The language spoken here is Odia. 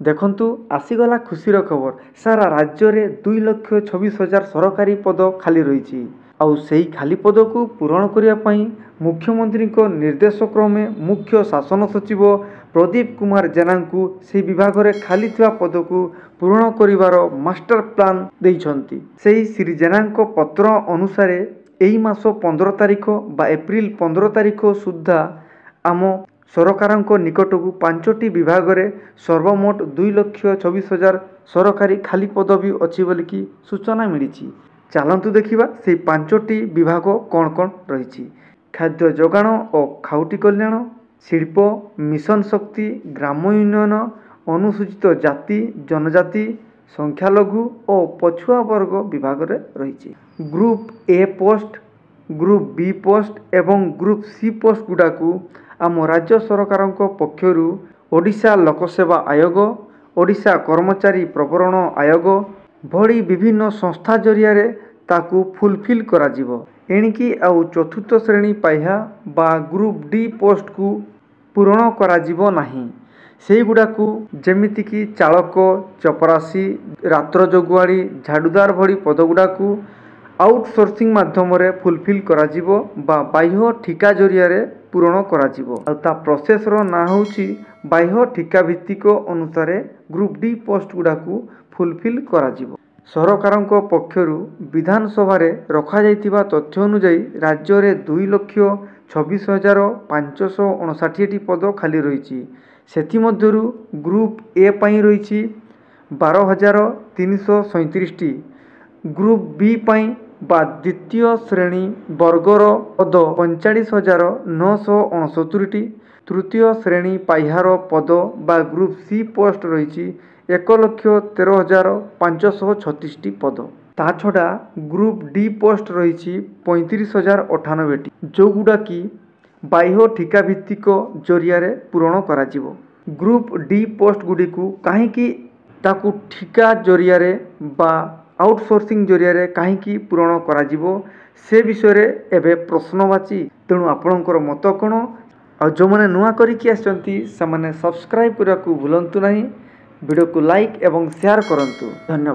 ଦେଖନ୍ତୁ, ଆସିଗଲା ଖୁସିର ଖବର। ସାରା ରାଜ୍ୟରେ 2,26,000 ସରକାରୀ ପଦ ଖାଲି ରହିଛି। ଆଉ ସେହି ଖାଲି ପଦକୁ ପୂରଣ କରିବା ପାଇଁ ମୁଖ୍ୟମନ୍ତ୍ରୀଙ୍କ ନିର୍ଦ୍ଦେଶ କ୍ରମେ ମୁଖ୍ୟ ଶାସନ ସଚିବ ପ୍ରଦୀପ କୁମାର ଜେନାଙ୍କୁ ସେହି ବିଭାଗରେ ଖାଲି ଥିବା ପଦକୁ ପୂରଣ କରିବାର ମାଷ୍ଟର ପ୍ଲାନ୍ ଦେଇଛନ୍ତି। ସେହି ଶ୍ରୀ ଜେନାଙ୍କ ପତ୍ର ଅନୁସାରେ ଏହି ମାସ 15 ତାରିଖ ବା ଏପ୍ରିଲ 15 ତାରିଖ ସୁଦ୍ଧା ଆମ ସରକାରଙ୍କ ନିକଟକୁ 5ଟି ବିଭାଗରେ ସର୍ବମୋଟ 2,26,000 ସରକାରୀ ଖାଲି ପଦବୀ ଅଛି ବୋଲିକି ସୂଚନା ମିଳିଛି। ଚାଲନ୍ତୁ ଦେଖିବା ସେଇ 5ଟି ବିଭାଗ କ'ଣ କ'ଣ ରହିଛି। ଖାଦ୍ୟ ଯୋଗାଣ ଓ ଖାଉଟି କଲ୍ୟାଣ, ଶିଳ୍ପ, ମିଶନ ଶକ୍ତି, ଗ୍ରାମ ଉନ୍ନୟନ, ଅନୁସୂଚିତ ଜାତି, ଜନଜାତି, ସଂଖ୍ୟାଲଘୁ ଓ ପଛୁଆ ବର୍ଗ ବିଭାଗରେ ରହିଛି। Group A post, group B post ଏବଂ ଗ୍ରୁପ୍ ସି ପୋଷ୍ଟ ଗୁଡ଼ାକୁ ଆମ ରାଜ୍ୟ ସରକାରଙ୍କ ପକ୍ଷରୁ ଓଡ଼ିଶା ଲୋକସେବା ଆୟୋଗ, ଓଡ଼ିଶା କର୍ମଚାରୀ ପ୍ରବରଣ ଆୟୋଗ ଭଳି ବିଭିନ୍ନ ସଂସ୍ଥା ଜରିଆରେ ତାକୁ ଫୁଲଫିଲ୍ କରାଯିବ। ଏଣିକି ଆଉ ଚତୁର୍ଥ ଶ୍ରେଣୀ ପାହ୍ୟା ବା ଗ୍ରୁପ୍ ଡି ପୋଷ୍ଟକୁ ପୂରଣ କରାଯିବ ନାହିଁ। ସେଇଗୁଡ଼ାକୁ ଯେମିତିକି ଚାଳକ, ଚପରାସି, ରାତ୍ର ଜଗୁଆଳି, ଝାଡ଼ୁଦାର ଭଳି ପଦଗୁଡ଼ାକୁ ଆଉଟସୋର୍ସିଂ ମାଧ୍ୟମରେ ଫୁଲଫିଲ୍ କରାଯିବ ବା ବାହ୍ୟ ଠିକା ଜରିଆରେ ପୂରଣ କରାଯିବ। ଆଉ ତା ପ୍ରୋସେସ୍ର ନାଁ ହେଉଛି ବାହ୍ୟ ଠିକା ଭିତ୍ତିକ ଅନୁସାରେ ଗ୍ରୁପ୍ ଡି ପୋଷ୍ଟ ଗୁଡ଼ାକୁ ଫୁଲଫିଲ୍ କରାଯିବ। ସରକାରଙ୍କ ପକ୍ଷରୁ ବିଧାନସଭାରେ ରଖାଯାଇଥିବା ତଥ୍ୟ ଅନୁଯାୟୀ ରାଜ୍ୟରେ 2,26,559ଟି ପଦ ଖାଲି ରହିଛି। ସେଥିମଧ୍ୟରୁ ଗ୍ରୁପ୍ ଏ ପାଇଁ ରହିଛି 12,337ଟି, ଗ୍ରୁପ୍ ବି ପାଇଁ ବା ଦ୍ୱିତୀୟ ଶ୍ରେଣୀ ବର୍ଗର ପଦ 45,969ଟି, ତୃତୀୟ ଶ୍ରେଣୀ ପାହ୍ୟାର ପଦ ବା ଗ୍ରୁପ୍ ସି ପୋଷ୍ଟ ରହିଛି 1,13,536ଟି ପଦ। ତା ଛଡ଼ା ଗ୍ରୁପ୍ ଡି ପୋଷ୍ଟ ରହିଛି 35,098ଟି, ଯେଉଁଗୁଡ଼ାକି ବାହ୍ୟ ଠିକା ଭିତ୍ତିକ ଜରିଆରେ ପୂରଣ କରାଯିବ। ଗ୍ରୁପ୍ ଡି ପୋଷ୍ଟ ଗୁଡ଼ିକୁ କାହିଁକି ତାକୁ ଠିକା ଜରିଆରେ ବା ଆଉଟସୋର୍ସିଂ ଜରିଆରେ କାହିଁକି ପୂରଣ କରାଯିବ, ସେ ବିଷୟରେ ଏବେ ପ୍ରଶ୍ନବାଚୀ। ତେଣୁ ଆପଣଙ୍କର ମତ କ'ଣ? ଆଉ ଯେଉଁମାନେ ନୂଆ କରିକି ଆସିଛନ୍ତି, ସେମାନେ ସବସ୍କ୍ରାଇବ୍ କରିବାକୁ ଭୁଲନ୍ତୁ ନାହିଁ। ଭିଡ଼ିଓକୁ ଲାଇକ୍ ଏବଂ ସେୟାର କରନ୍ତୁ। ଧନ୍ୟବାଦ।